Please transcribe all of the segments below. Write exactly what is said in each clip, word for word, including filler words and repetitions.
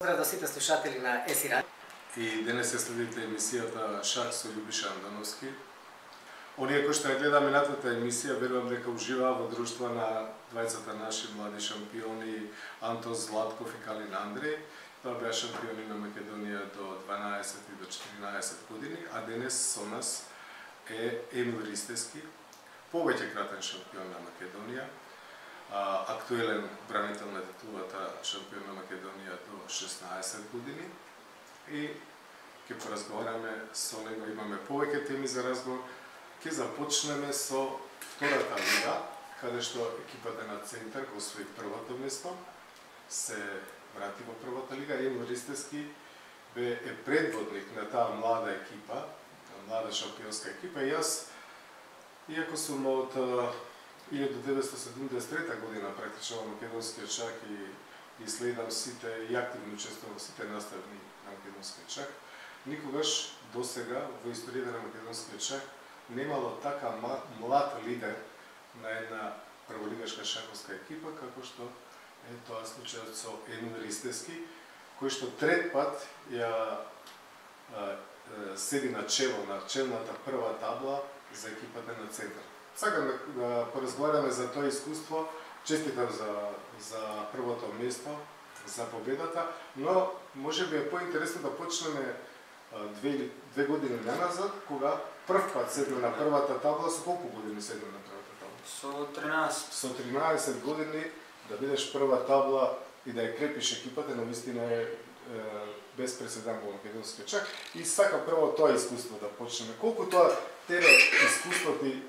Поздрав до сите слушатели на ес и Радио. И денес ја следите емисијата Шах со Љубиша Андановски. Оние кои што ја гледа минатата емисија, верувам дека уживаа во друштво на двајцата наши млади шампиони Антос Златков и Калин Андреј. Тоа беа шампиони на Македонија до дванаесет и до четиринаесет години, а денес со нас е Емил Ристевски, повеќе кратен шампион на Македонија, актуелен бранител на титулата шампион на Македонија до шеснаесет години, и ќе поразговараме со него, имаме повеќе теми за разговор. Ќе започнеме со втората лига, каде што екипата на Центар го освои првото место, се врати во првата лига. Емил Ристевски бе е предводник на таа млада екипа, млада шампионска екипа, и јас, иако сум од илјада деветстотини седумдесет и трета година практично во македонскиот шах и, и следам сите и активно учествувам во сите наставни на македонскиот шах, никогаш досега во историјата на македонскиот шах немало така млад лидер на една прволигашка шаховска екипа како што е тоа случајот со Емил Ристевски, кој што трет пат ја а, седи на чело на челната прва табла за екипата на Центар. Сакам да, да поразговараме за тоа искуство, честитам за, за првото место, за победата, но може би е поинтересно да почнеме две, две години наназад, кога прв пат седна на првата табла. Со колку години седна на првата табла? Со тринаесет. Со тринаесет години да бидеш прва табла и да ја крепиш екипата, но вистина е, е без преседан во македонскиот шах. И сакам прво тоа искуство да почнеме. Колку тоа тебе искуство ти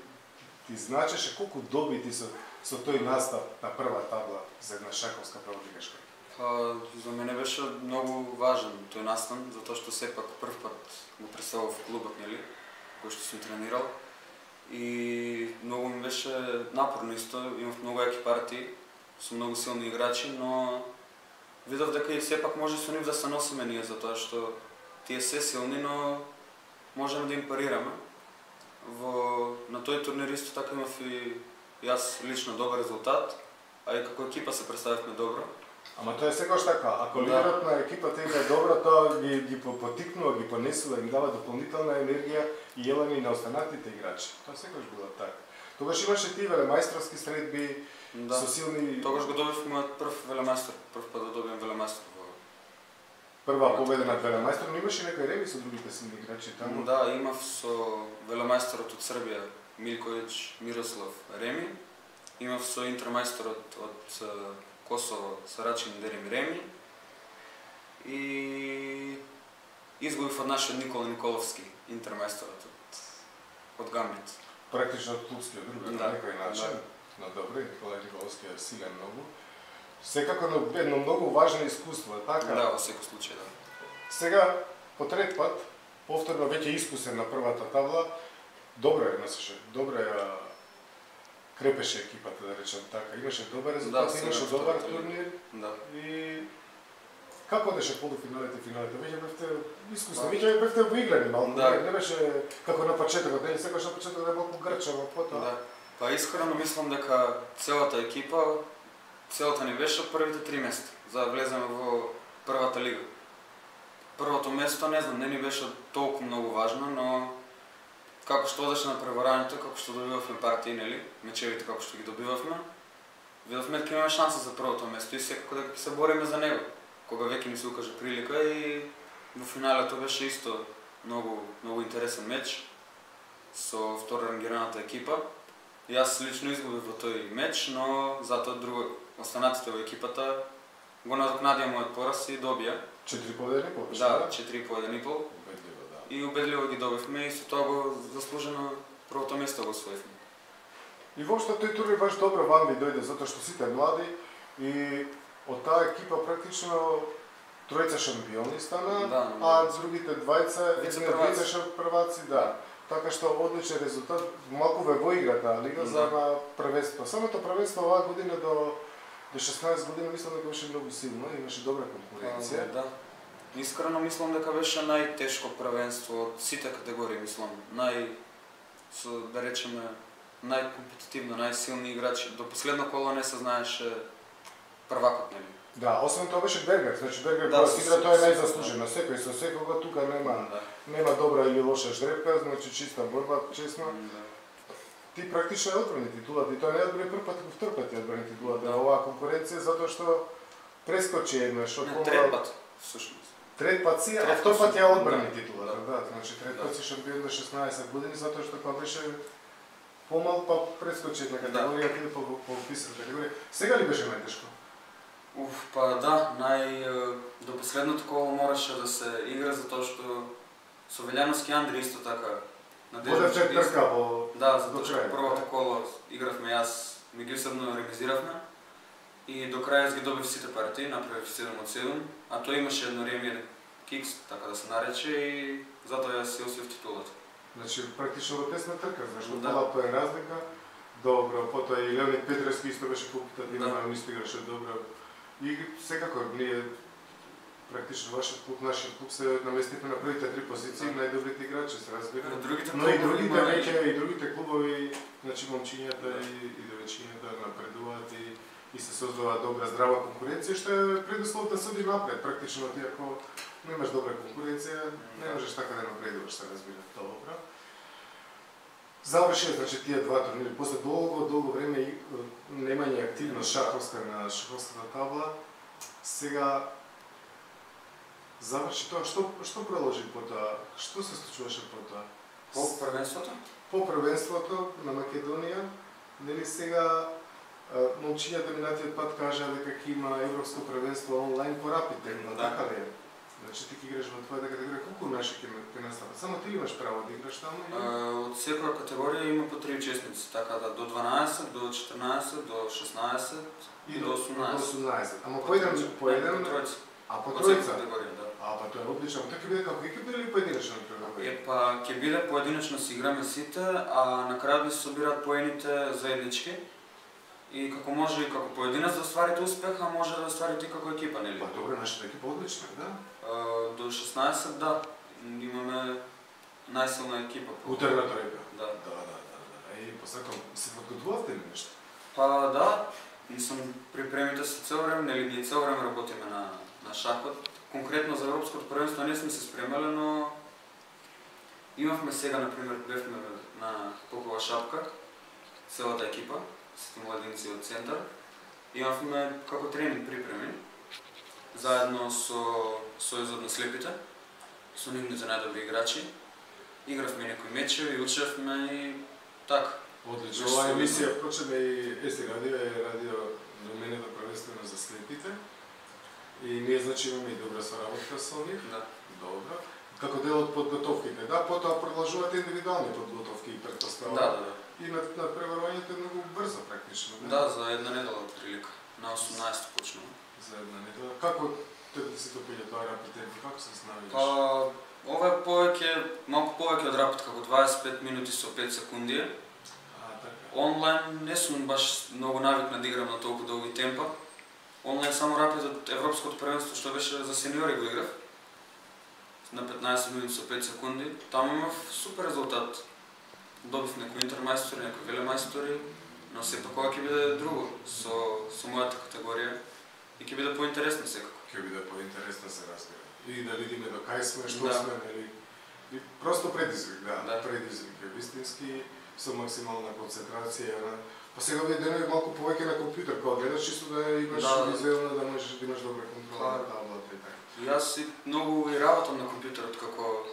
ти значеше, колку добити со, со тој настап на прва табла за една шаховска прволигашка? Па, за мене беше многу важен тој настан, затоа што сепак прв пат го представав клубот, нели, кој што сум тренирал. И многу ми беше напорно исто, имав многу јаки партии, со многу силни играчи, но видов дека и сепак може со нив да се носиме ние, затоа што тие се силни, но можеме да им парираме. Во на тој турнир исто така имав и јас лично добар резултат, а и како екипа се представивме добро. Ама тоа е секогаш така, ако да. Лидерот на екипата е добро, тоа ги, ги потикнува, ги понесува, им дава дополнителна енергија и елани на останатите играчи. Тоа секогаш било така. Тогаш имаше ти велемајсторски средби, да. Со силни... Тогаш го добив мојот прв велемајстор, прв пат да добиам велемајстор. Прва победа над велемајстор, но имаше некој реми со другите силни играчи таму? Да, имав со велемајсторот од Србија Милковиќ Мирослав Реми, имав со интермајсторот од Косово Сарачин Дерим Реми и изгубив од нашиот Никола Николовски, интермајсторот од, од Гамбит. Практично од клубскиот друг, да, на некој начин. Да. Но добре, Никола Николовски е силен многу. Секако едно многу важно искуство, така? Да, во секој случај, да. Сега, по трет пат, повторно веќе искусен на првата табла, добро е носеше, добро ја крепеше екипата, да речем така. Имаше добар резултат, да, имаше добар турнир. Да. И како одеше полуфиналите, финалите? Веќе бевте искусни, веќе бевте воиграни малку, да. Не беше како на почетокот, нели секогаш на почетокот е малку грчаво, потоа. Да. Па искрено мислам дека целата екипа, целата ни беше првите три места за да влеземе во првата лига. Првото место, не знам, не ни беше толку многу важно, но како што одеше на преварањето, како што добивавме партии, нели, мечевите како што ги добивавме, видовме дека имаме шанса за првото место и секако дека ќе се бориме за него, кога веќе ни се укаже прилика. И во финалето беше исто многу многу интересен меч со второрангираната екипа. Јас лично изгубив во тој меч, но затоа друго останатите во екипата го надокнадија мојот пораз и добија. Четири победи и пол? Да, четири победи и пол. Убедливо, да. И убедливо ги добивме и со тоа го заслужено првото место го освоивме. И воопшто тој турнир баш добро вам ви дојде, затоа што сите млади и од таа екипа практично тројца шампиони стана, да, а другите двајца вице прваци, да. Така што одличен резултат, малку ве воигра таа лига, да. За на првенство. Самото првенство оваа година до до шеснаесет години мислам дека беше многу силно, имаше добра конкуренција. Да. Искрено мислам дека беше најтешко првенство од сите категории, мислам. Нај со да речеме најкомпетитивно, најсилни играчи. До последно коло не се знаеше првакот, нели? Да, освен тоа беше Бергер, значи Бергер Да, кога с- си игра тоа е с- најзаслужено. Секој со секога тука нема Да. нема добра или лоша ждрепка, значи чиста борба, честно. Да. Ти практично ја одбрани титулата и тоа не ја одбрани прв пат, туку втор пат ја одбрани титулата Да. во оваа конкуренција затоа што прескочи еднаш од Не, трет пат, всушност. Трет пат си, а Трет втор пат пат ја си, одбрани да. титулата, Да. да, значи трет Да. пат си шампион на шеснаесет години затоа што кога беше помал па прескочи една категорија, да. по по висока категорија. Сега ли беше најтешко? Уф, па да, нај е, до последното коло мораше да се игра затоа што со Велјановски Андри исто така Воде чак исто- трка во Да, до затоа што крај, првото да. коло игравме јас, меѓусебно ремизиравме и до крај јас ги добив сите партии, направив седум од седум, а тој имаше едно реми, еден кикс, така да се нарече и затоа јас си освоив титулата. Значи практично во тесна трка, зашто Да. пола тоа е разлика. Добро, потоа и Леонид Петревски исто беше попитативен, Да. да. исто играше добро. И секако ние практично вашиот клуб, нашиот клуб се наместивме на првите три позиции, Да. најдобрите играчи се разбира. Но другите Но и клубови другите има- веќе и другите клубови, значи момчињата Да. и, и девојчињата напредуваат и, и се создава добра здрава конкуренција, што е предуслов да се оди напред. Практично ти ако немаш добра конкуренција, не можеш така да напредуваш, се разбира. Добро. Завршија, значи, тие два турнири. После долго, долго време и, е, немање активност шаховска на шаховската табла, сега заврши тоа. Што, што продолжи потоа? Што се случуваше потоа? По првенството? По првенството на Македонија, нели сега е, момчињата минатиот пат кажа дека ќе има европско првенство онлайн по Рапид, но Да. така ли е? Значи ти ќе играш во твојата категорија, колку наши ќе ќе настават? Само ти имаш право да играш таму? Е, Од секоја категорија има по три учесници, така да до дванаесет, до четрнаесет, до шеснаесет и до До осумнаесет. осумнаесет. Ама по еден, по еден, По тројца. а по Од секоја тројца? категорија, да. А, па тоа е одлично. Тоа ќе биде како екипа или поединечно категорија? Е, па, ќе биде поединечно си играме сите, а на крајот да се собираат поените заеднички. И како може и како поединец да остварите успех, а може да остварите и како екипа, нели? Па добре, нашата екипа одлична, да? Е, До шеснаесет, да. Имаме најсилна екипа. по- Утерна тројка. Да. Да, да, да, да. Е, посакам, се подготвувавте ли нешто? Па да, мислам, припремите се цел време, нели ние цел време работиме на, на шахот. Конкретно за Европското првенство не сме се спремале, но имавме сега, например, бевме на Попова шапка, целата екипа, сите младинци од центар. Имавме како тренинг припреми, заедно со Сојузот на слепите, со нивните најдобри играчи. Игравме некои мечеви, учевме и така. Одлично. Беше Оваа солидно. емисија почна и Еси радио е радио доменето првенствено за слепите. И ние значи имаме и добра соработка со нив. Да. Добро. Како дел од подготовките, да, потоа продолжуваат индивидуални подготовки и претпоставки. Да, да, да. И на, на преварувањето е многу брзо практично. Да, за една недела од прилика. На осумнаесет почнува. За една недела. Како тебе ти се допаѓа тоа Рапид темпо? Како се снавиш? Па, ова е повеќе, малку повеќе од Рапид, како дваесет и пет минути со пет секунди. А, така. Онлайн не сум баш многу навикнат да играм на толку долги темпа. Онлайн само Рапид од Европското првенство што беше за сениори го играв. На петнаесет минути со пет секунди. Таму имав супер резултат. Добив некои интермајстори, некои велемајстори, но сепак ова ќе биде друго со со мојата категорија и ќе биде поинтересно секако. Ќе биде поинтересно се разбира. И да видиме до кај сме, што Да. сме, нели? И просто предизвик, да, Да. предизвик е вистински со максимална концентрација. На... Па сега овие денови малку повеќе на компјутер, кога гледаш чисто да имаш Да. визуелно, да можеш да имаш добра контрола Па, на таблата и така. И јас и многу и работам на компјутерот, како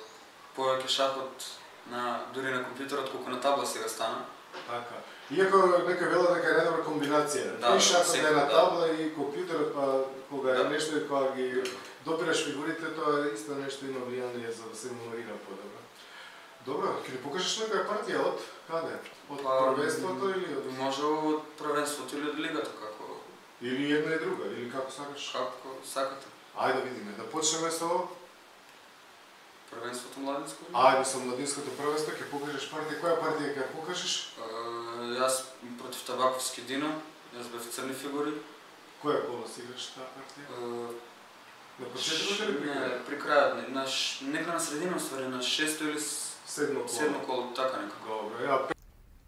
повеќе шахот на дури на компјутерот колку на табла сега стана. Така. Иако некој вела дека е најдобра комбинација. Да, и шахот секој, е на да. табла и компјутерот, па кога е Да. нешто и кога ги добираш фигурите, тоа исто нешто има влијание за да се меморира подобро. Добро, ќе ни покажеш некоја партија од каде? Од Па, првенството или од Може од првенството или од лигата, како или една и друга, или како сакаш? како сакате. Ајде да видиме, да почнеме со Првенството младинско. ајде со младинското првенство, ќе покажеш партија, која партија ќе ја покажеш? Е, Јас против Табаковски Дино, јас бев црни фигури. Која кола си играш таа партија? Е, На почетокот или при Не, крајот? при крајот, не, на ш- негде на средина, ствари, на шесто или с- Седмо кола. седмо коло, така некако. Добро, ја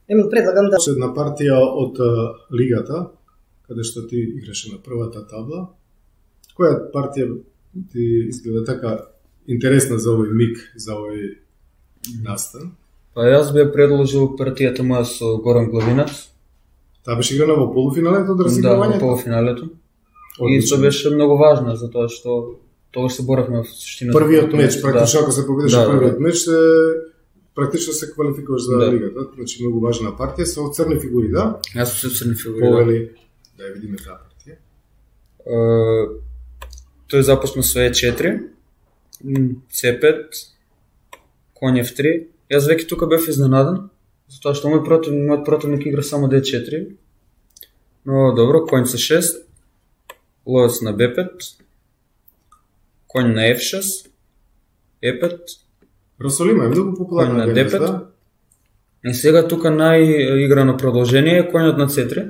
Емил, предлагам да Последна партија од а, лигата, каде што ти играше на првата табла. Која партија ти изгледа така интересна за овој миг, за овој настан? Па јас бе предложил партијата моја со Горан Главинац. Таа беше играна во полуфиналето од Да, разигравањето? во полуфиналето. И тоа беше многу важно, затоа што тогаш се боравме во суштина. Првиот меч, практично ако се победеше Да, да, првиот да. меч, се практично се квалификуваш за Да. лигата, значи многу важна партија со црни фигури, да? Јас сум се црни фигури. Да. Повели, да ја видиме таа партија. Е, тој започна со е четири, це пет, конј еф три. Јас веќе тука бев изненаден, затоа што мој противник, мојот противник игра само де четири. Но добро, конј це шест, ловец на бе пет, конј на еф шест, е пет, Росолима е многу конј популарна на бе де пет. да? И сега тука најиграно продолжение е конјот на це три.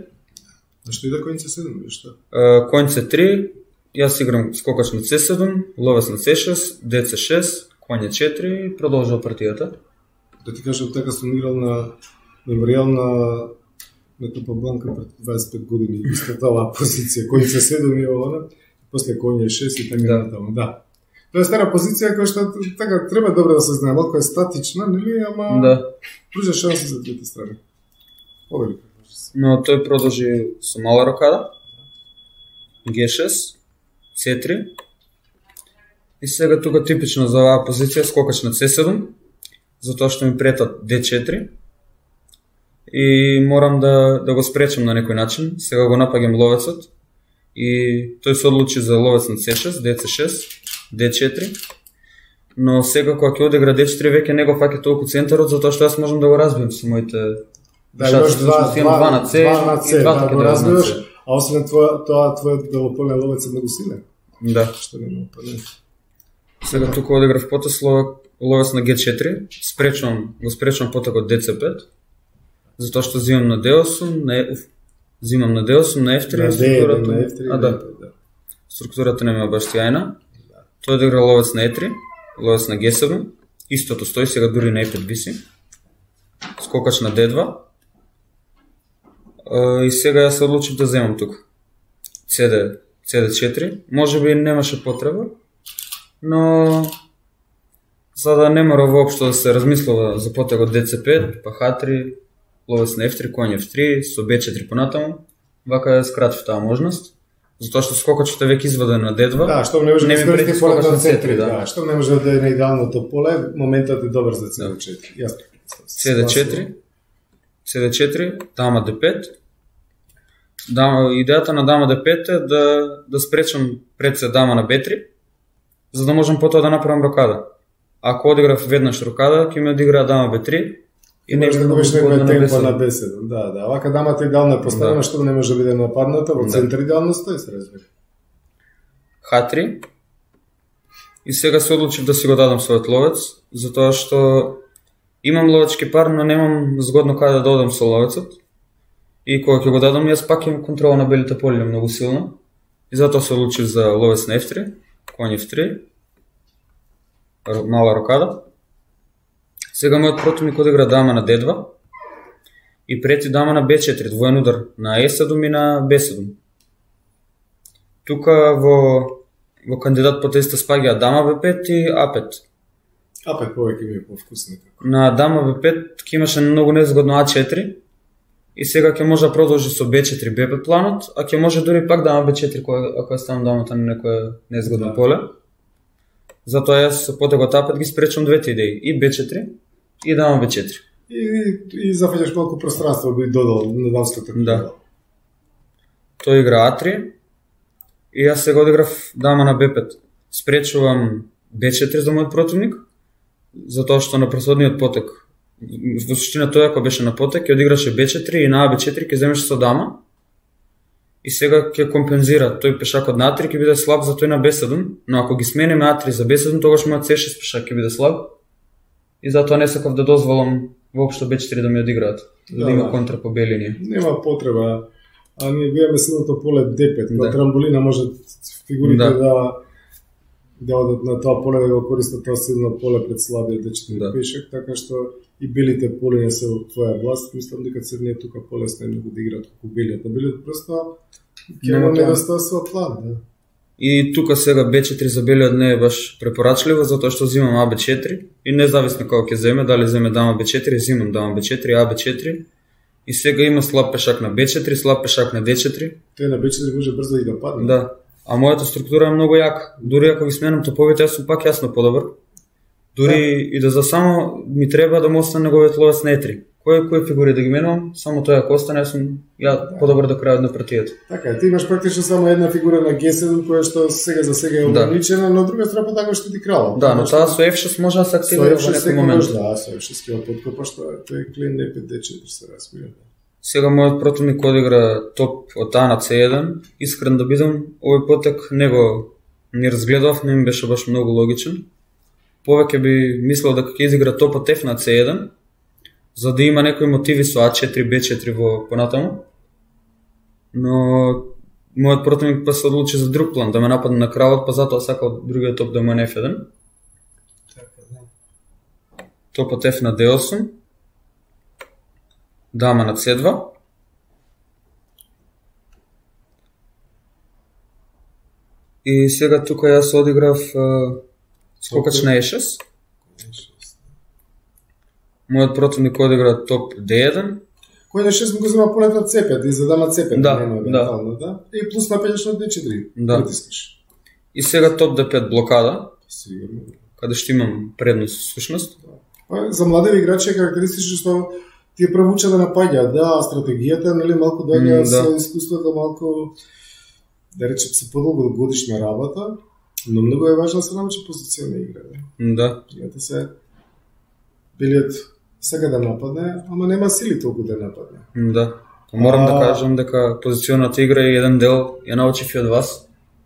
Зашто иде кој се седем или што? Uh, конј це три, јас играм скокач на це седем, ловец на це шест, де це шест, конј е четири и продолжува партијата. Да ти кажам, така сум играл на меморијал на на Капабланка пред дваесет и пет години, иста таа позиција, кој се седем и она, после кој е шест и така Да. натаму, да. Тоа е стара позиција која што така треба добро да се знае, малку е статична, нели, ама Да. пружа шанси за двете страни. Повели. Но тој продолжи со мала рокада, ге шест, це три. И сега тука типично за оваа позиција скокач на це седем, затоа што ми претат де четири. И морам да, да го спречам на некој начин. Сега го напаѓам ловецот. И тој се одлучи за ловец на це шест, де це шест, де четири. Но сега кога ќе одигра де четири веќе не го фаќа толку центарот, затоа што јас можам да го разбием со моите Да, имаш два, два, два на це, два на це, и двата да, ќе го треба на разбиваш, це. а освен тоа, тоа твојот белополен ловец е многу силен. Да. Што нема опанен. Сега тука одиграв потес ловец на ге четири, спречувам, го спречувам потекот де це пет, затоа што взимам на де осум, на F, взимам на де осум, на еф три, На структурата, на еф три, а да, да. структурата не ми е баш сјајна. Тој одигра ловец на е три, ловец на ге седем, истото стои, сега дури на е пет виси, скокач на де два, и сега јас се одлучив да земам тука це де четири, може би немаше потреба, но за да не мора воопшто да се размислува за потегот де це пет, па ха три, ловец на еф три, конј еф три, со бе четири понатаму, вака ја скратив таа можност, затоа што скокачот е веќе изваден на де два. Да, што не може да ми прети скористи поле скокач на на це це три, три, да. да. Што не може да е на идеалното поле, моментот е добар за це де четири. Јасно. це де четири, це де четири, дама де пет. Дама, идејата на дама де пет е да, да спречам пред се дама на бе три, за да можам потоа да направам рокада. Ако одиграв веднаш рокада, ќе ми одигра дама бе три И не може да губиш некој на темпо бе седем. на бе седем. Да, да. Вака дамата идеално е поставена, Да. што не може да биде нападната, во Да. центар идеално стои, се разбира. ха три. И сега се одлучив да си го дадам својот ловец, затоа што имам ловечки пар, но немам згодно каде да одам со ловецот. И кога ќе го дадам, јас пак имам контрола на белите полиња многу силно. И затоа се одлучив за ловец на еф три, конј еф три, р- мала рокада. Сега мојот противник одигра дама на де два и прети дама на бе четири, двоен удар на е седем и на бе седем. Тука во, во кандидат по теста спаѓа дама бе пет и а пет. А пет повеќе ми е повкусно како. На дама бе пет ќе имаше многу незгодно а четири и сега ќе може да продолжи со бе четири бе пет планот, а ќе може дури пак дама бе четири кога ако ја ставам дамата на некое незгодно Да. поле. Затоа јас со потегот а пет ги спречам двете идеи, и бе четири и дама бе четири. И, и зафаќаш малку пространство би додал на дамската крила. Да. Тој игра а три и јас сега одиграв дама на бе пет. Спречувам бе четири за мојот противник, затоа што на пресодниот потек, во суштина тој ако беше на потек, ќе одиграше бе четири и на а бе четири ќе земеше со дама. И сега ќе компензира тој пешакот на а три ќе биде слаб за тој на бе седем, но ако ги смениме а три за бе седем, тогаш мојот це шест пешак ќе биде слаб. И затоа не сакав да дозволам воопшто бе четири да ми одиграат, да, Да, има да. контра по бе линија. Нема потреба. А ние го имаме силното поле де пет, кога Да. трамболина може фигурите Да. да да одат на тоа поле да го користат тоа силно поле пред слабиот де четири Да. пешак, така што и белите полиња се во твоја власт. Мислам дека црниот тука полесно е многу да играат како белиот. На белиот просто ќе Нема има план. недостатство план, да. И тука сега Б четири за белиот не е баш препорачливо, затоа што взимам А Б четири и независно како ќе земе, дали земе дама Б четири, взимам дама Б четири, А Б четири. И сега има слаб пешак на Б четири, слаб пешак на Д четири. Тој на Б четири може брзо и да падне. Да. А мојата структура е многу јака. Дури ако ги сменам топовите, јас сум пак јасно подобар. Дури да. И да за само ми треба да му остане неговиот ловец на Е три. Кој кој фигури да ги менувам, само тој ако остане, јас сум ја да. Подобар до крајот на партијата. Така, ти имаш практично само една фигура на Г седум која што сега за сега е ограничена, да. Но друга страна така што ти крала. Да, но таа со Ф шест може да се активира во некој момент. Да, со Ф шест ќе подкопа што тој клин Е пет Д четири се разбира. Сега мојот противник одигра топ од А на С еден. Искрен да бидам, овој потек не го не разгледав, не ми беше баш многу логичен. Повеќе би мислел дека ќе изигра топ од Ф на С еден, за да има некои мотиви со А четири, Б четири во понатаму. Но мојот противник па се одлучи за друг план, да ме нападне на кралот, па затоа сакал другиот топ да му е на Ф еден. Топ од Ф на Д осум. Дама на С два. И сега тука јас одиграв uh, скокач на Е шест. Мојот противник одигра топ Д еден. Кој на шест го зема полетот С пет и за дама С пет. Да, нема, да. да. И плюс нападеш на Д четири. Да. И сега топ Д пет блокада. Сигурно. Каде што имам предност всушност. Да. За млади играчи е карактеристично што ти е првуча да напаѓа, да, стратегијата, нели, малку доаѓа mm, да. Со искуството, малку, да речем, се подолго годишна работа, но многу е важно да се научи позиционна игра. Да. Да. Играта се, белиот сега да нападне, ама нема сили толку да нападне. Да. Морам а... да кажам дека позиционната игра е еден дел, ја научив и од вас,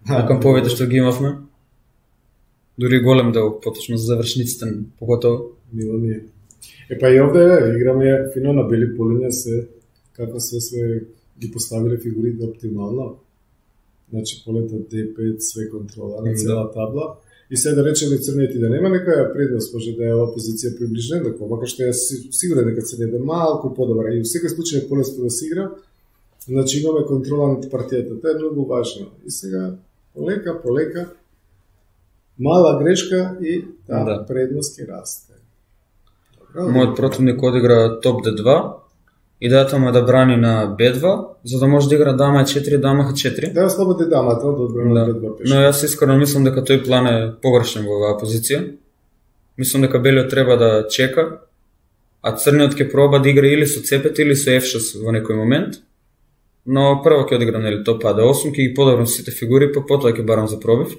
на камповите што ги имавме. Дури голем дел, поточно за завршниците, поготово. Мило ми е. Е па и овде играме фино на бели полиња се како се све ги поставиле фигурите оптимално. Значи полетот Д пет, све контрола на цела табла. И се да речеме црниот и да нема некоја предност, може да е ова позиција приближена, макар што јас сигурен дека црниот е малку подобар и во секој случај е полесно да се игра. Значи имаме контрола над партијата, тоа е многу важно. И сега полека, полека, мала грешка и таа да. Предност ќе расте. Мојот противник одигра топ Д два. Идејата му е да брани на Б два, за да може да игра дама Е четири, дама Х четири. Да, слободи дамата да одбрани на да. Б два пеш. Но јас искрено мислам дека тој план е погрешен во оваа позиција. Мислам дека белиот треба да чека, а црниот ќе проба да игра или со С пет или со Ф шест во некој момент. Но прво ќе одиграм нели топ А Д осум, ќе ги подобрам сите фигури, па потоа ќе барам за пробив.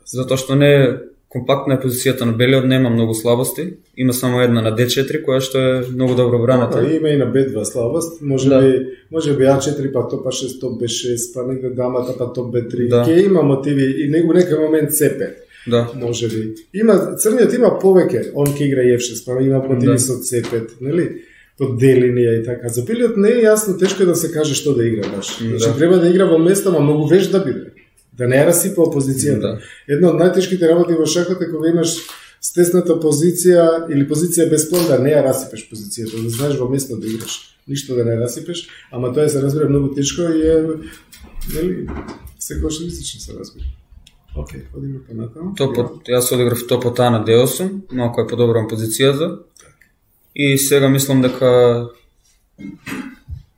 Затоа што не е компактна е позицијата на белиот, нема многу слабости. Има само една на Д четири, која што е многу добро браната. Да, има и на Б два слабост. Може да. би, може би А четири па топ А шест, топ Б шест, па негде дамата па топ Б три. Да. Ке има мотиви и во некој момент С пет. Да. Може би. Има црниот има повеќе, он ќе игра Ф шест, па има мотиви да. Со С пет, нели? Под Д линија и така. За белиот не е јасно, тешко е да се каже што да игра баш. Значи да. Треба да игра во места, ма многу веж да биде. Да не ја расипа позицијата. Да. Една од најтешките работи во шахот е кога имаш стесната позиција или позиција без план, да не ја расипеш позицијата, да знаеш во место да играш. Ништо да не расипеш, ама тоа се разбира многу тешко и е, нели, секојшнистично се разбира. Океј, одиме па натаму. Топот, јас одиграв топот А на Д осум, малку е подобрам позицијата. И сега мислам дека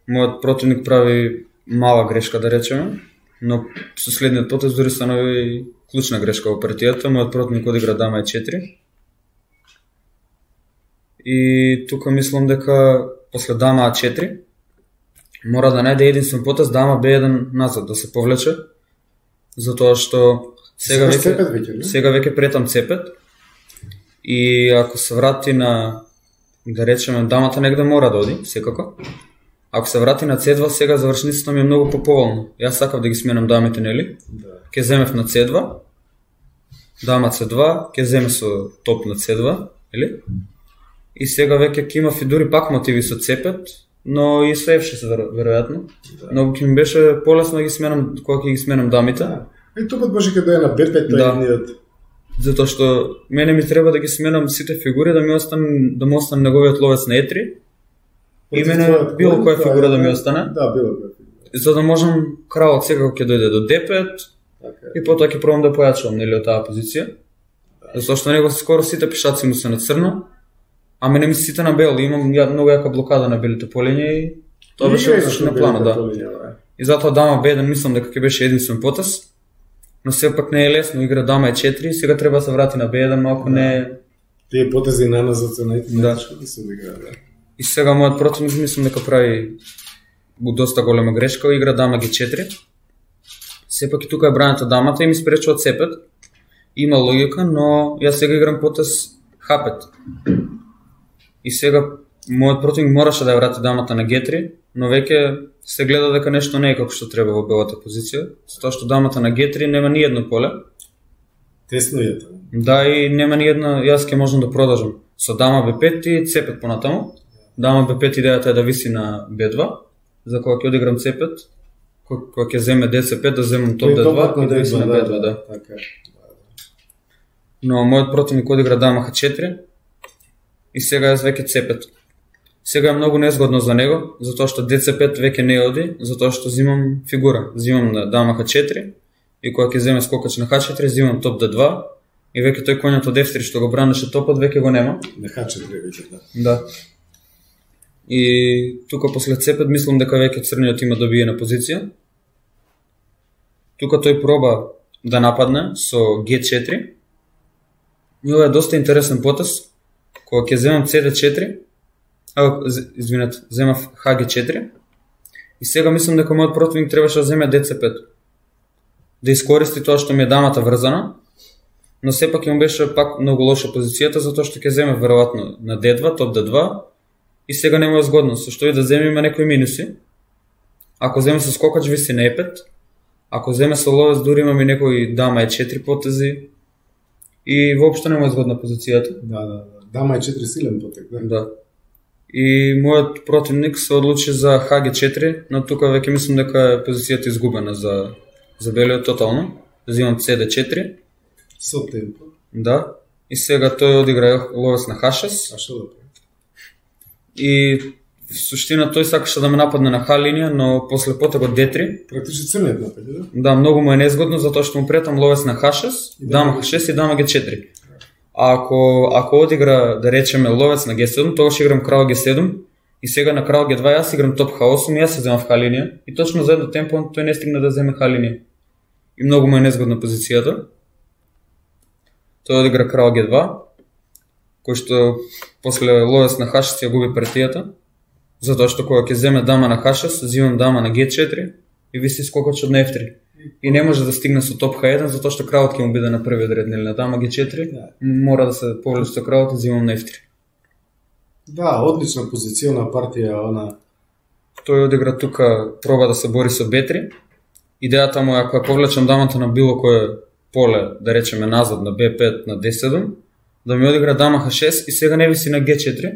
мојот противник прави мала грешка, да речеме. Но со следниот потез дури станови клучна грешка во партијата. Мојот противник одигра дама Е четири. И тука мислам дека после дама А четири мора да најде единствен потез дама Б еден назад, да се повлече. Затоа што сега веќе сега веќе претам С пет. И ако се врати на, да речеме, дамата негде мора да оди, секако. Ако се врати на С два, сега завршницата ми е многу поповолно. Јас сакав да ги сменам дамите, нели? Да. Ке земев на С два, дама С два, ке земе со топ на С два, нели? И сега веќе ќе има и дури пак мотиви со С пет, но и со Ф шест веројатно. Да. Но ќе ми беше полесно да ги сменам кога ќе ги сменам дамите. Да. И топот може кога е на Б пет тој да. Едниот. Затоа што мене ми треба да ги сменам сите фигури, да ми остане да му остане неговиот ловец на Е три. И мене било која фигура да ми остане. Да, било која фигура. За да можам кралот секако ќе дојде до Д пет, Така. И потоа ќе пробам да појачувам нели од таа позиција. Затоа што него скоро сите пешаци му се на црно, а мене ми сите на бел, имам ја, многу јака блокада на белите полиња и тоа беше одлично на плана, да. Полиња, И затоа дама Б еден мислам дека ќе беше единствен потез. Но сепак не е лесно, игра дама е четири, сега треба да се врати на Б еден, малку да. Не е... Тие потези на назад се најтешко да. да се одиграат, да. И сега мојот противник мислам дека прави доста голема грешка, игра дама Г четири. Сепак и тука е браната дамата и ми спречува С пет. Има логика, но јас сега играм потез Х пет. И сега мојот противник мораше да ја врати дамата на Г три, но веќе се гледа дека нешто не е како што треба во белата позиција, затоа што дамата на Г три нема ни едно поле. Тесно е тоа. Да, и нема ни една, јас ќе можам да продолжам со дама Б пет и С пет понатаму. Дама Б пет идејата е да виси на Б два, за кога ќе одиграм С пет, кога ќе земе Д С пет да земам топ Д два и да виси на Б два, да. Така. Но мојот противник одигра дама Х четири и сега јас веќе С пет. Сега е многу незгодно за него, затоа што Д С пет веќе не оди, затоа што зимам фигура. Зимам на дама Х четири и кога ќе земе скокач на Х четири, зимам топ Д два и веќе тој коњот од Ф три што го бранеше топот веќе го нема. На Х четири веќе, да. Да. И тука после С пет мислам дека веќе црниот има добиена позиција. Тука тој проба да нападне со Г четири. И ова е доста интересен потез. Кога ќе земам С Д четири, а, извинете, земав Х Г четири. И сега мислам дека мојот противник требаше да земе Д С пет. Да искористи тоа што ми е дамата врзана, но сепак им беше пак многу лоша позицијата, затоа што ќе земе веројатно на Д два, топ Д два, и сега нема е згодно, со што и да земе има некои минуси. Ако земе со скокач виси на Е пет, ако земе со ловец дури имаме некои дама Е четири потези и воопшто нема е згодна позицијата. Да, да, да. Дама Е четири силен потек, да. Да. И мојот противник се одлучи за Х Г четири, но тука веќе мислам дека е позицијата изгубена за за белиот тотално. Земам С Д четири. Со темпо. Да. И сега тој одигра ловец на Х шест. А што да прави? И в суштина тој сакаше да ме нападне на Х линија, но после потегот Д три. Практично црниот напади, да? Да, многу му е незгодно затоа што му претам ловец на Х шест, дама Х шест и дама Г четири. А ако ако одигра да речеме ловец на Г седум, тогаш играм крал Г седум и сега на крал Г два јас играм топ Х осум и јас се земам в Х линија и точно за едно темпо тој не стигна да земе Х линија. И многу му е незгодна позицијата. Тој одигра крал Г два, кој што после ловец на Х шест ја губи партијата, затоа што кога ќе земе дама на Х шест, земам дама на Г четири и виси скокачот на Ф три. И не може да стигне со топ Х еден, затоа што кралот ќе му биде на првиот ред, нели на дама Г четири, мора да се повлече со кралот и земам на Ф три. Да, одлична позициона партија, она. Тој одигра тука, проба да се бори со Б три. Идејата му е ако ја повлечам дамата на било кое поле, да речеме назад на Б пет, на Д седум, да ми одигра дама Х шест и сега не виси на Г четири.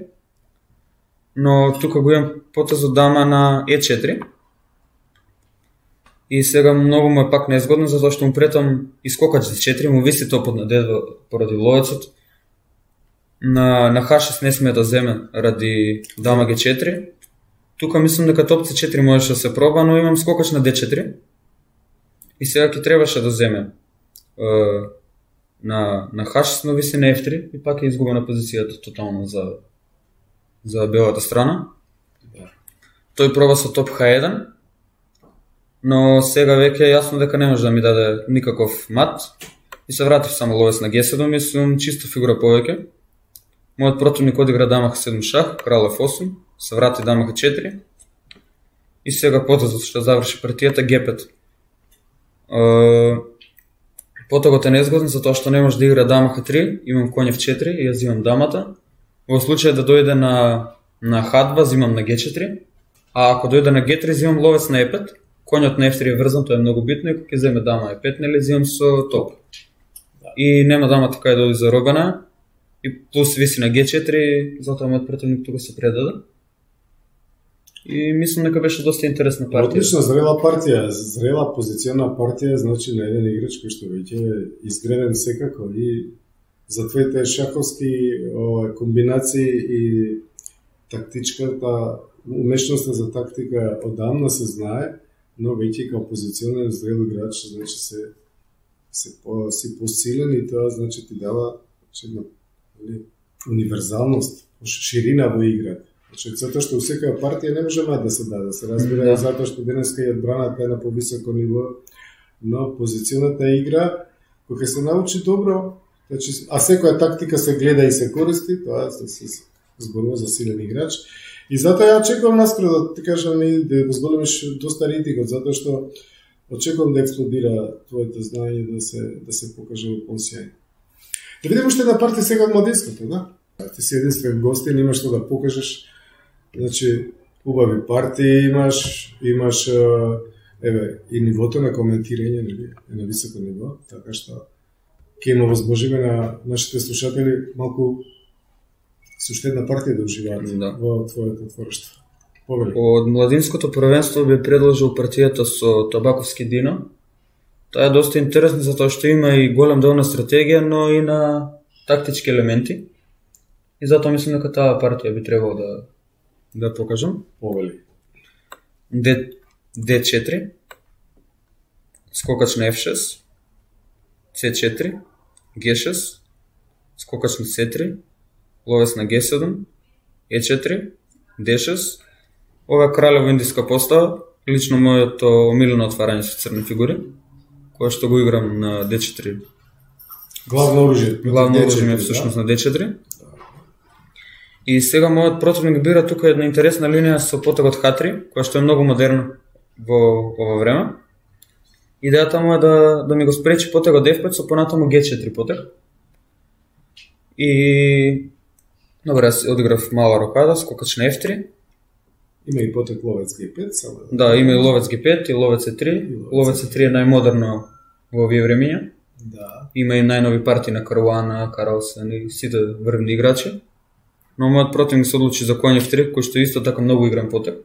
Но тука го имам потезот дама на Е четири. И сега многу му е пак незгодно, затоа што му претам искокач Д четири, му виси топот на Д два поради ловецот. На, на Х шест не смее да земе ради дама Г четири. Тука мислам дека топ С четири можеше да се проба, но имам скокач на Д четири. И сега ќе требаше да земе е, на, на Х шест, но виси на Ф три и пак е изгубена позицијата тотално за, за белата страна. Да. Тој проба со топ Х еден, но сега веќе е јасно дека не може да ми даде никаков мат и се вратив само ловец на Г седум и сум чиста фигура повеќе. Мојот противник одигра дама Х седум шах, крал Ф осум, се врати дама Х четири и сега потезот што заврши партијата Г пет. Uh, потегот е незгоден затоа што не може да игра дама Х три, имам коњ Ф четири и јас зимам дамата. Во случај да дојде на, на Х два, зимам на Г четири, а ако дојде на Г три, зимам ловец на Е пет, коњот на Ф три е врзан, тоа е многу битно и кога ќе земе дама Е пет, нели зимам со топ. И нема дамата кај да оди заробена, и плюс виси на Г четири, затоа мојот противник тука се предаде. И мислам дека беше доста интересна партија. Одлична зрела партија, зрела позициона партија, значи на еден играч кој што веќе е изгреден секако и за твоите шаховски о, комбинации и тактичката, умешноста за тактика одамна се знае, но веќе као позиционен зрел играч, значи се си, по, си посилен и тоа значи ти дава една универзалност, ширина во играта. Значи, затоа што у секоја партија не може мат да се даде, се разбира, да. Затоа што денеска и одбраната е на повисоко ниво, но позиционата игра, кога се научи добро, значи, а секоја тактика се гледа и се користи, тоа се, се зборува за силен играч. И затоа ја очекувам наскоро да ти кажам и да го зголемиш доста рейтингот, затоа што очекувам да експлодира твоето знаење да се да се покаже во понсијање. Да видиме уште една партија сега од младинското, да? Ти си единствен гостин, имаш што да покажеш. Значи, убави партии имаш, имаш еве и нивото на коментирање, нели, е на високо ниво, така што ќе има возможност на нашите слушатели малку со уште една партија да уживаат да. Во твоето творештво. Повели. Од младинското првенство би предложил партијата со Табаковски Дино. Таа е доста интересна затоа што има и голем дел на стратегија, но и на тактички елементи. И затоа мислам дека таа партија би требало да да покажам. Повели. Д четири, скокач на Ф шест, С четири, Г шест, скокач на С три, ловец на Г седум, Е четири, Д шест. Ова е кралево индиска постава, лично моето омилено отварање со црни фигури, кое што го играм на Д четири. Главно оружје. Главно оружје е всушност на Д четири. И сега мојот противник бира тука една интересна линија со потегот Х три, која што е многу модерна во ова време. Идејата му е да, да ми го спречи потегот Ф пет со понатаму Г четири потег. И добре, јас одиграв мала рокада, скокач на Ф три. Има и потег ловец Г пет, само. Да, има и ловец Г пет и ловец Е три. Ловец Е три е најмодерно во овие времиња. Да. Има и најнови партии на Каруана, Карлсен и сите врвни играчи. Но мојот противник се одлучи за коњ Ф три, кој што исто така многу игран потег.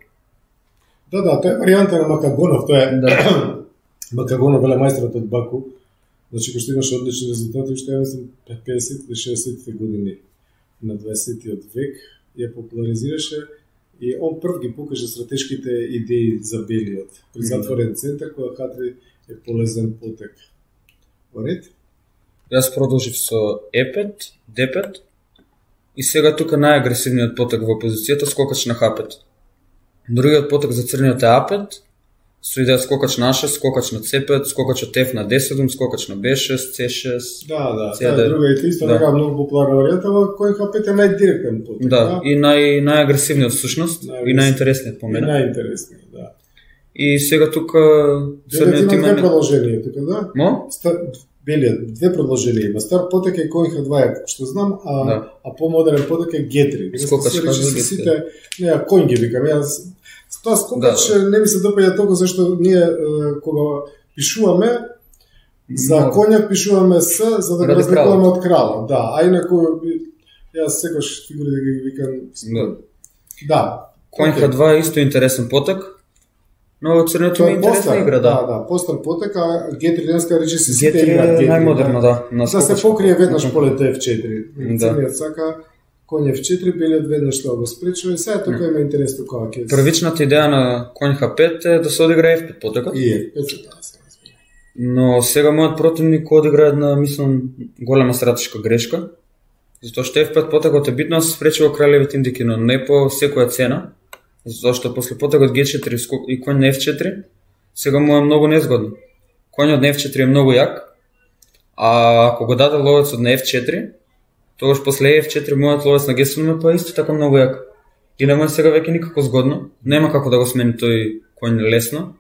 Да, да, тоа е варијанта на Макагонов, тоа е да. Макагонов велемајсторот од Баку. Значи кој што имаше одлични резултати уште педесетти и шеесеттите години на дваесеттиот век ја популаризираше и он прв ги покажа стратешките идеи за белиот. При затворен центар која Х три е полезен потег. Во ред? Јас продолжив со Е пет, Д пет. И сега тука најагресивниот потег во позицијата скокач на Х пет. Другиот потег за црниот е А пет, со идеја скокач на А шест, скокач на С пет, скокачот Ф на Д седум, скокач на Б шест, С шест. Да, да, тоа е друга и исто така многу популарна варијанта, во кој Х пет е најдиректен потег. Да, да? И нај најагресивниот всушност и најинтересниот по мене. Најинтересниот, да. И сега тука црниот има две продолженија тука, да? Мо? Белиот две продолженија има. Стар потег е кој Х два, што знам, а да. А помодерен потег е Г три. Скокач на Г три. Сите, не, кој ги викам, јас тоа скокач да. Не ми се допаѓа толку зашто ние кога пишуваме за коњак пишуваме С за да го разликуваме од кралот. Да, а инаку јас секогаш фигури да ги викам. Да. Да. Коњ Х два е исто интересен потег. Но црниот има интересна игра, да. Да, да, постар потег, а Г три денеска рече се сите играат Г три. Г три е најмодерна, да. Да се покрие веднаш полето Ф четири. Црниот сака коњ Ф четири, белиот веднаш тоа го спречува и сега тука има интересно која ќе. Првичната идеја на коњ Х пет е да се одигра Ф пет потегот. И Ф пет да се разбира. Но сега мојот противник одигра една, мислам, голема стратешка грешка. Затоа што Ф пет потегот е битно да се спречи во кралевите индики, но не по секоја цена. Затоа што после потегот Г четири и коњ на Ф четири сега му е многу незгодно. Коњот на Ф четири е многу јак, а ако го даде ловецот на Ф четири, тогаш после Ф четири мојот ловец на Г седум е па исто така многу јак. И нема сега веќе никако згодно, нема како да го смени тој коњ лесно.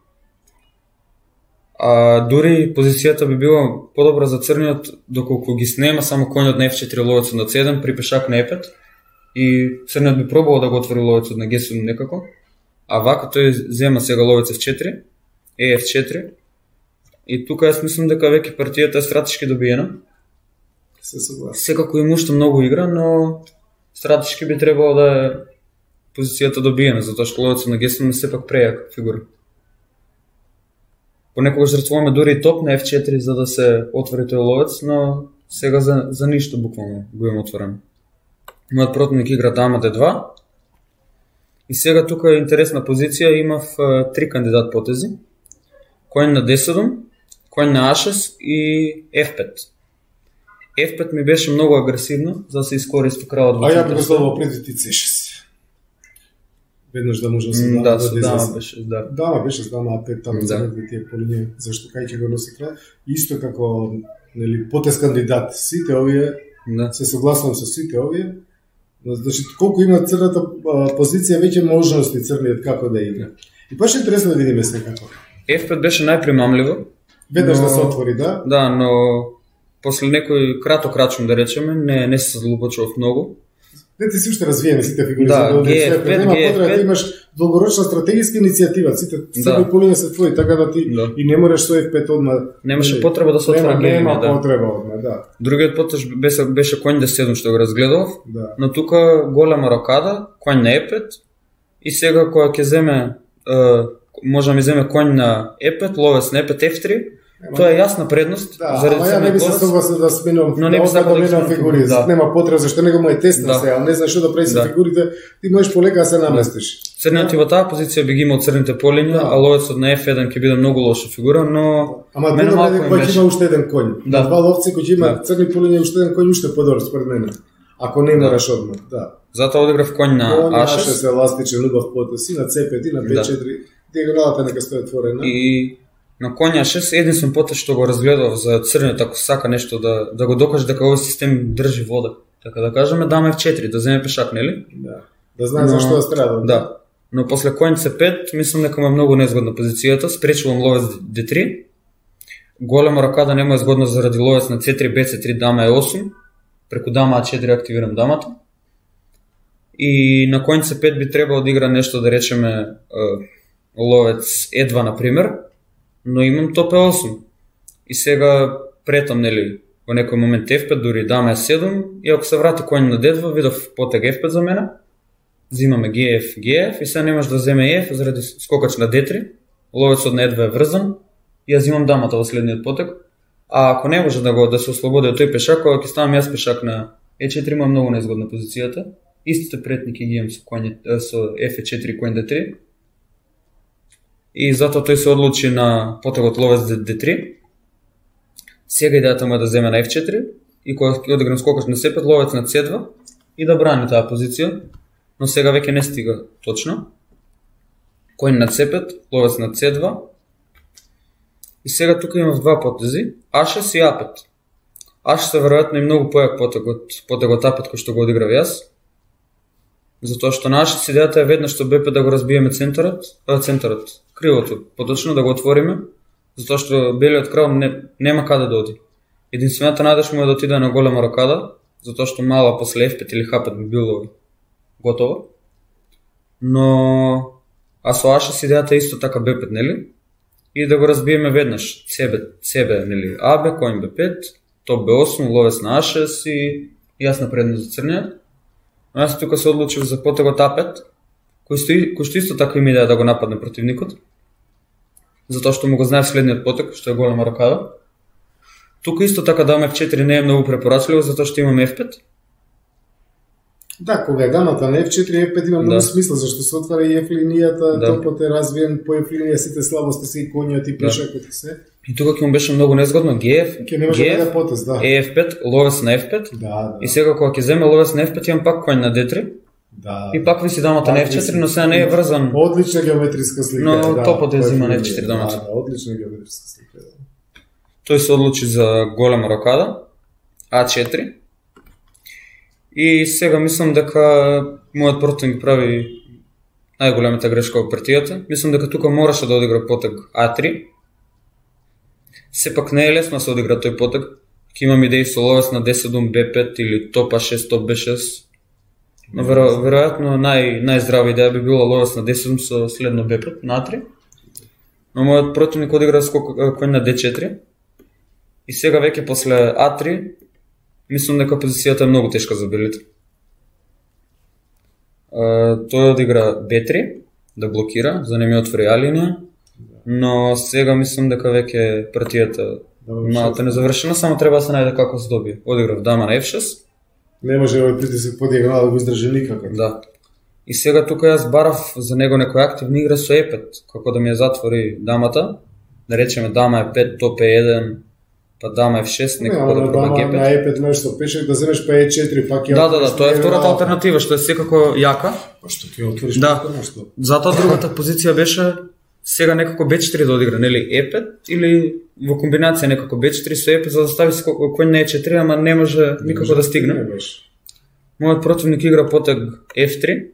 А дури позицијата би била подобра за црниот доколку ги снема само коњот на Ф четири ловецот на Ц еден при пешак на Е пет. И црниот би пробувал да го отвори ловецот на Г седум некако, а вака тој зема сега ловец Ф четири, Е Ф четири, и тука јас мислам дека веќе партијата е стратешки добиена. Се согласувам. Секако има уште многу игра, но стратешки би требало да е позицијата добиена, затоа што ловецот на Г седум е сепак прејак фигура. Понекогаш жртвуваме дури и топ на Ф четири за да се отвори тој ловец, но сега за, за ништо буквално го имам отворено. Мојот противник игра дама Д два. И сега тука е интересна позиција, имав три кандидат потези. Коњ на Д седум, конј на а шест и еф пет. еф пет ми беше многу агресивно, за да се искористи кралот во А ја центар. би го следувал пред ти це шест. Веднаш да може да се М, дава Да, со да дама излезе. беше, да. Дама беше с дама а пет таму Да. за негде тие полиња, зашто кај ќе го носи крал. Исто како нели потез кандидат, сите овие Да. се согласувам со сите овие. Значи колку има црната а, позиција веќе можности црниот како да игра. И баш интересно да видиме секако. еф пет беше најпримамливо. Веднаш Но- да се отвори, да? Да, но после некој краток рачун да речеме, не не се задлубочував многу. Не ти си уште развиени сите фигури Да, за да Г Ф пет, нема Г Ф потреба да пет. имаш долгорочна стратегиска иницијатива, сите Да. црни полиња се твои, така да ти Да. и не можеш со еф пет одма. Немаше нели, потреба да се отвора нема, гейм, нема да. потреба одма, да. Другиот потеж беше беше конј да седум што го разгледував, Да. но тука голема рокада, конј на е пет и сега кога ќе земе е, може да ми земе конј на е пет, ловец на е пет еф три, тоа е јасна предност Да, заради ама ја не би се црниот ловец. согласил да сменувам, Но не би да сакал да ги менам сменам фигури, фигури, да. нема потреба зашто него му е тесно Да. сега, не знаеш што да прави со Да. фигурите, ти можеш полека да се наместиш. Црниот и во таа позиција би ги имал црните полиња, Да. а ловецот на еф еден ќе биде многу лоша фигура, но Ама мене добро малку е им кој ќе беше. има уште еден конј. Да. На два ловци кои ќе има Да. црни полиња и уште еден конј уште подобар според мене. Ако не мораш одма, да. затоа одиграв конј на Конј а а шест шест еластичен убав потез и на це пет и на пет четири. Диагоналата нека стои отворена. и на конј а шест единствен потез што го разгледав за црниот ако сака нешто да да го докаже дека овој систем држи вода. Така да кажеме дама еф четири, да земе пешак, нели? Да. Да знае Но- зашто да страда. Да. Но после конј це пет, мислам дека му е многу незгодна позицијата, спречувам ловец д три. Голема рокада не му е згодна заради ловец на це три, бе це три, дама е осум. Преку дама а четири активирам дамата. И на конј це пет би требало да игра нешто, да речеме е, ловец е два, например, но имам топ е осум. И сега претам, нели, во некој момент еф пет, дури дама е седум, и ако се врати конј на д два, видов потег еф пет за мене, взимаме ге еф, ге еф, и сега не може да земе еф заради скокач на д три, ловецот на е два е врзан, и ја взимам дамата во следниот потег. А ако не може да го да се ослободи од тој пешак, кога ќе ставам јас пешак на е четири, има многу незгодна позицијата. Истите претники ги имам со конј со еф четири конј д три. И затоа тој се одлучи на потегот ловец д три. Сега идејата му е да земе на еф четири и кога ќе одиграм скокач на се пет, ловец на це два и да брани таа позиција, но сега веќе не стига точно. Конј на це пет, ловец на це два. И сега тука имав два потези, а шест и а пет. а шест е веројатно и многу појак потег од потегот а пет кој што го одиграв јас. Затоа што на а шест идејата е веднаш што бе пет да го разбиеме центарот, а, центарот, крилото, поточно да го отвориме, затоа што белиот крал не, нема каде да оди. Единствената надеж му е да отиде на голема рокада, затоа што мала после еф пет или ха пет би било готово. Но а со а шест идејата е исто така бе пет, нели? И да го разбиеме веднаш. Себе, себе нели? А бе, конј бе пет, топ бе осум, ловец на а шест и јасна предност за црниот. Но јас тука се одлучив за потегот а пет, кој што, кој што исто така има идеја да го нападне противникот. Затоа што му го знаев следниот потег, што е голема рокада. Тука исто така дама еф четири не е многу препорачливо, затоа што имаме еф пет. Да, кога е дамата на еф четири, еф пет има многу Да. смисла, зашто се отвара и еф линијата, Да. топот е развиен, по еф линија сите слабости се и конјот и пешакот и се. И тука ќе му беше многу незгодно ге еф, Ке не може ге да еф, даде потез, да. е еф пет, ловец на еф пет. Да, да. И сега кога ќе земе ловец на еф пет, имам пак конј на д три. Да. И пак виси дамата Пак на еф четири, виси. но сега не е врзан. Одлична геометриска слика. Но да, топот е по взима на линија. еф четири дамата. Да, да, одлична геометриска слика. Да. Тој се одлучи за голема рокада, а четири. И сега мислам дека мојот противник прави најголемата грешка во партијата. Мислам дека тука мораше да одигра потег а три. Сепак не е лесно да се одигра тој потег. Ќе имам идеи со ловец на д седум, бе пет или топ а шест, топ бе шест. Но веро, веројатно нај, најздрава идеја би била ловец на д седум со следно бе пет на а три. Но мојот противник одигра скок кој на д четири. И сега веќе после а три, мислам дека позицијата е многу тешка за белите. Uh, тој одигра бе три, да блокира, за да не ми отвори а линија, но сега мислам дека веќе партијата малку не завршена, само треба да се најде како се добие. Одиграв дама на еф шест. Не може овој притисок по диагонала да го издржи никако. Да. И сега тука јас барав за него некоја активна игра со е пет, како да ми ја затвори дамата, да речеме дама е пет, топ е еден, па дама е шест, некако да проба Г пет. На Е пет можеш со пешек да земеш па Е четири, пак ја... Да, да, да, тоа е втората алтернатива, што е секако јака. Па што ќе отвориш Да, нешто? затоа другата позиција беше сега некако Б четири да одигра, нели Е пет или во комбинација некако Б четири со Е пет за да стави коњ на Е четири, ама не може никако да стигне. Мојот противник игра потег Ф три.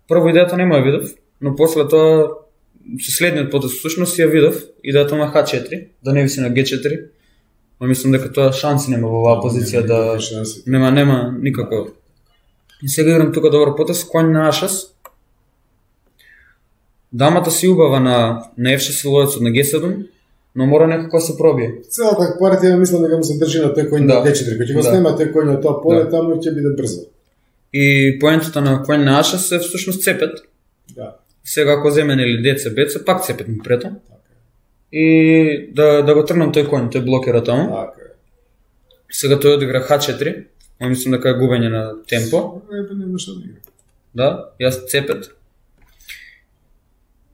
Прво идејата нема ја видов, но после тоа со следниот потез всушност ја видов идејата на Х четири, да не виси на Г четири. Но мислам дека тоа шанси нема во оваа позиција да нема нема никако. И сега играм тука добро потез коњ на А шест. Дамата си убава на на Ф шест ловецот на Г седум, но мора некако да се пробие. Целата партија мислам дека му се држи на тој коњ Да. на Д четири, кој ќе го Да. снема тој коњ на тоа поле, Да. таму ќе биде брзо. И поентата на коњ на А шест е всушност С пет. Да. Сега ако земе нели Д С, Б С, пак С пет му прето. И да да го трнам тој коњ, тој блокира таму. Така е. Сега тој одигра Х четири. Ма мислам дека е губење на темпо. Епе нема што да игра. Да, јас С пет.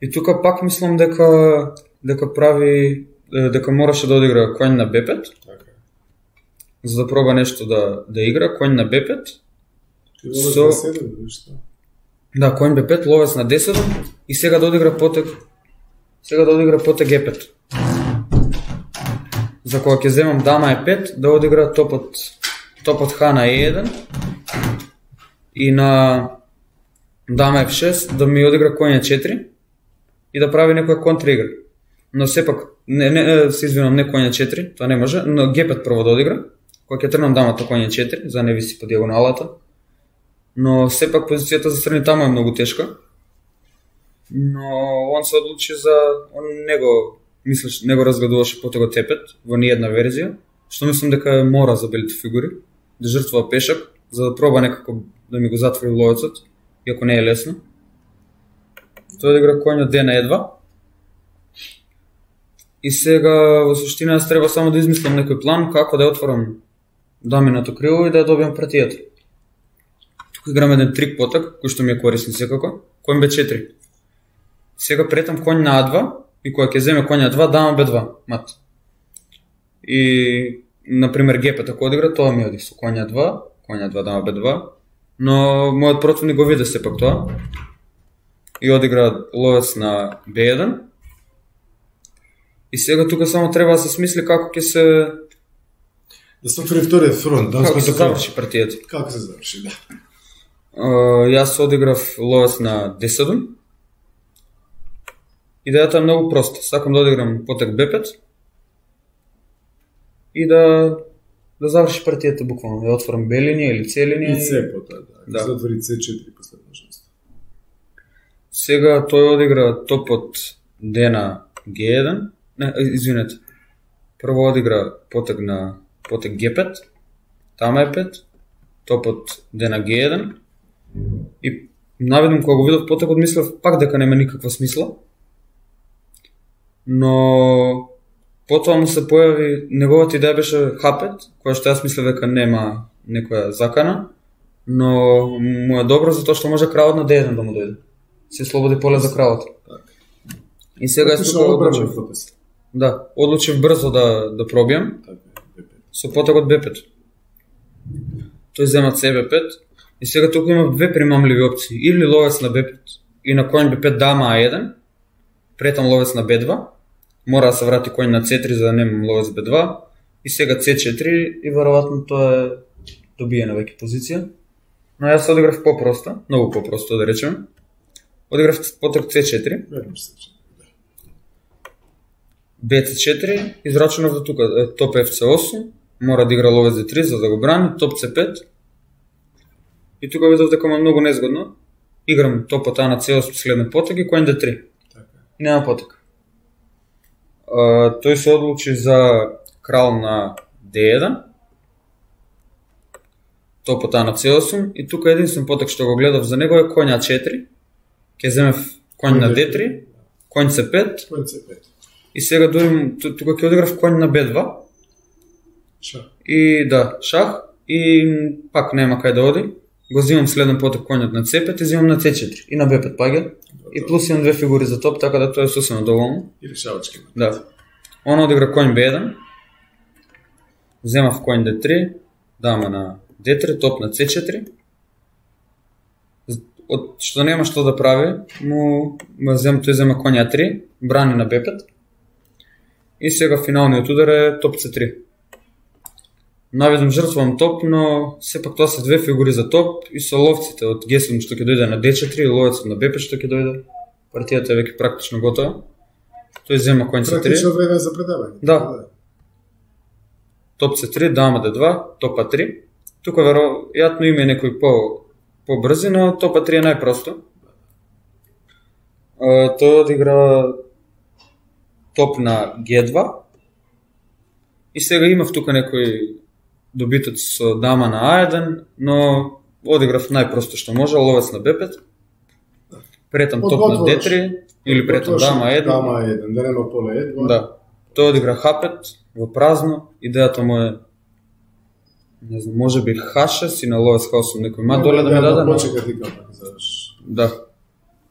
И тука пак мислам дека дека прави е, дека мораше да одигра коњ на Б пет, Така е. за да проба нешто да да игра коњ на Б пет. Ти водиш Со- на седем, нешто. Да, коњ Б пет, ловец на Д седум и сега да одигра потег сега да одигра потег Г пет. За кога ќе земам дама Е пет, да одигра топот топот Х на Е еден и на дама Ф шест да ми одигра коњ Е четири и да прави некоја контраигра. Но сепак не не се извинувам, не коњ Е четири, тоа не може, но Г пет прво да одигра. Кога ќе трнам дамата коњ Е четири, за да не виси по диагоналата. Но сепак позицијата за страни таму е многу тешка. Но он се одлучи за он него мислиш него разгледуваше потегот Е пет во ниедна верзија, што мислам дека мора за белите фигури да жртвува пешак за да проба некако да ми го затвори ловецот, иако не е лесно. Тој одигра коњот Д на Е два. И сега во суштина јас треба само да измислам некој план како да ја отворам даминото крило и да ја добијам партијата. Тука играм еден трик потек, кој што ми е корисен секако, коњ Б четири. Сега претам коњ на А два и кога ќе земе коњ А два, дама Б два, мат. И например Г пет ако одигра, тоа ми оди со коњ А два, коњ А два, дама Б два, но мојот противник го виде сепак тоа. И одигра ловец на Б еден. И сега тука само треба да се смисли како ќе се Да се отвори вториот фронт, да како се се заврши партијата. Како се заврши, да. Uh, јас одиграв ловец на Д седум. Идејата е многу проста. Сакам да одиграм потек Б пет и да да заврши партијата буквално, да отворам Б линија или С линија. И С потоа, да. Да. Да. Затвори С четири последношност. Сега тој одигра топот Д на Г еден. Не, извинете. Прво одигра потек на потек Г пет, тама Е пет, топот Д на Г еден. И наведам кога го видов потекот мислев пак дека нема никаква смисла. Но потоа му се појави неговата идеја беше Х пет, која што јас мислев дека нема некоја закана, но му е добро затоа што може кралот на Д еден да му дојде. Се слободи поле за кралот. И сега јас тука одлучив. Да, одлучив брзо да да пробијам со потегот Б пет. Тој зема С Б пет и сега тука има две примамливи опции. Или ловец на Б пет и на коњ Б пет дама А еден, претам ловец на Б два, мора да се врати коњ на С три за да немам ловец Б два и сега С четири и веројатно тоа е добиена веќе позиција. Но јас одиграв попроста, многу попросто да речеме. Одиграв потек С четири. Б С четири, израчунав до тука, топ Ф С осум, мора да игра ловец Д три за да го брани, топ С пет. И тука видов дека ма многу незгодно. Играм топот А на С осум следен потек и коњ Д три. И нема потек. А, тој се одлучи за крал на Д еден. Топот А на С осум и тука единствен потек што го гледав за него е коњ А четири. Ке земев коњ на Д три, коњ С пет. Коњ С пет. И сега дури тука ќе одиграв коњ на Б два. Шах. И да, шах и пак нема кај да оди. Го земам следен потек коњот на С пет и земам на С четири и на Б пет паѓа. и плюс имам две фигури за топ, така да тоа е сосема доволно. И решавачки. Да. Он одигра конј Б еден, земав конј Д три, дама на Д три, топ на С четири. Од што нема што да прави, му, му зем, тој зема конј А три, брани на Б пет. И сега финалниот удар е топ С три. Наведам жртвувам топ, но сепак тоа се две фигури за топ и со ловците од Г седум што ќе дојде на Д четири и ловецот на Б пет што ќе дојде. Партијата е веќе практично готова. Тој зема конј С три. Практично време за предавање. Да. Топ С три, дама Д два, топ А три. Тука веројатно има и некои по побрзи, но топ А три е најпросто. Тој одигра топ на Г два. И сега имав тука некои добитоци со дама на А еден, но одиграв најпросто што може, ловец на Б пет. Претам топ на Д три или претам дама еден. Дама еден, да нема поле Е два. Да. Тој одигра Х пет во празно. Идејата му е, не знам, може би Х шест и на ловец Х осум некој мат доле да ми даде. Почека ти капак, завршиш. Да.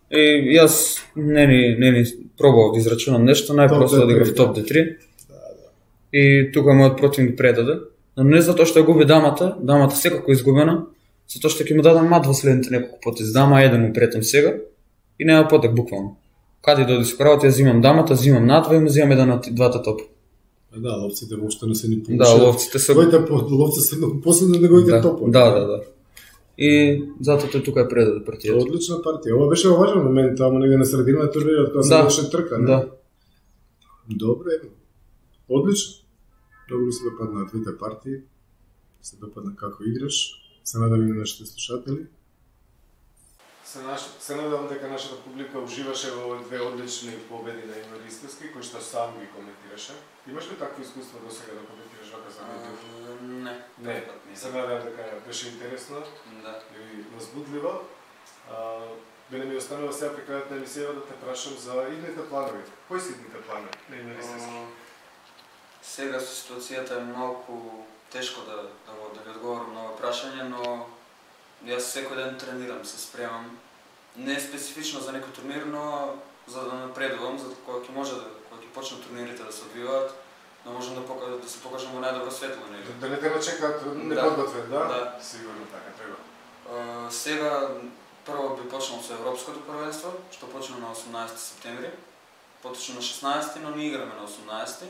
И јас не ни, не ни пробував да израчунам нешто, најпросто одиграв топ Д три. Да, да. И тука мојот противник предаде. Но не затоа што ја губи дамата, дамата секако изгубена, затоа што ќе му дадам мат во следните неколку потези. Дама еден му претам сега и нема потек буквално. Каде дојде со кравот, ја зимам дамата, зимам надва и му зимам еден од двата топа. Да, ловците воопшто не се ни получат. Да, ловците се Твоите ловци се многу последно неговите да, топови. Да, да, да. И затоа тој тука е предаде партијата. Одлична партија. Ова беше важен момент, таму негде на средина на турнирот кога се Да. беше трка, не? Да. Добре. Одлично. Многу ми се допадна двете партии. Се допадна како играш. Се надам и на нашите слушатели. Се, наш... се надам дека нашата публика уживаше во овие две одлични победи на Емир Истерски, кои што сам ги коментираше. Имаш ли такво искуство до сега да коментираш вака за видео? Не. Не. Се надам дека беше интересно Да. и возбудливо. А, Бене ми останува сега при крајот на емисијава да те прашам за идните планови. Кои се идните планови на Емир Истерски? Сега ситуацијата е малку тешко да, да, го, да ви одговорам на ова прашање, но јас секој ден тренирам, се спремам. Не специфично за некој турнир, но за да напредувам, за кога ќе може да, кога ќе почнат турнирите да се одвиваат, да можам да, покажа, да се покажам во најдобро светло. Не? Да не те начекаат неподготвен, да? Да. Сигурно така треба. Uh, сега прво би почнал со Европското првенство, што почна на осумнаесети септември, поточно на шеснаесети, но ние играме на осумнаесети.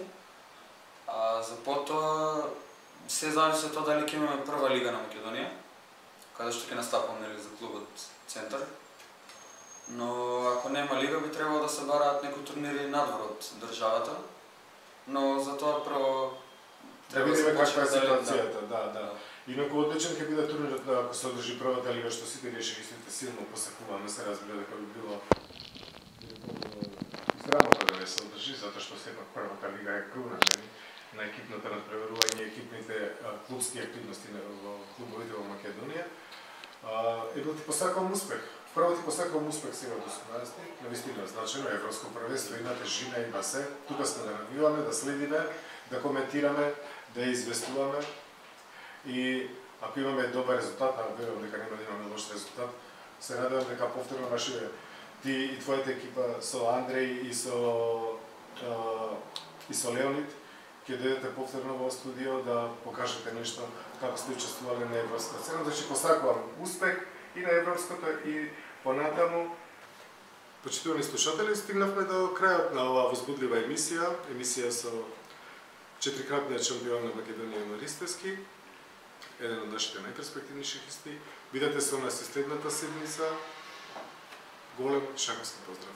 А за потоа се зависи од тоа дали ќе имаме прва лига на Македонија, каде што ќе настапам нели за клубот Центар. Но ако нема лига би требало да се бараат некои турнири надвор од државата. Но за тоа прво да видиме каква е ситуацијата, да, да. Инаку одличен ќе биде турнирот ако се одржи првата лига, што сите решилите силно посакуваме, се разбира дека би било израмотно да не се одржи, затоа што сепак првата лига е круна на екипното надпреварување и екипните а, клубски активности во клубовите во Македонија. Едно ти посакувам успех. Прво ти посакувам успех сега до осумнаесети, навистина значено европско првенство, имате жина, има се. Тука сме да навиваме, да следиме, да коментираме, да известуваме. И ако имаме добар резултат, а верувам дека нема да имаме лош резултат, се надевам дека повторно нашите ти и твојата екипа со Андреј и со а, и со Леонид ќе дојдете повторно во студио да покажете нешто како сте учествувале на европската сцена. Значи посакувам успех и на европското и понатаму. Почитувани слушатели, стигнавме до крајот на оваа возбудлива емисија, емисија со четирикратниот шампион на Македонија Емир Истерски, еден од нашите најперспективни шахисти. Бидете со нас и следната седмица. Голем шаковски поздрав!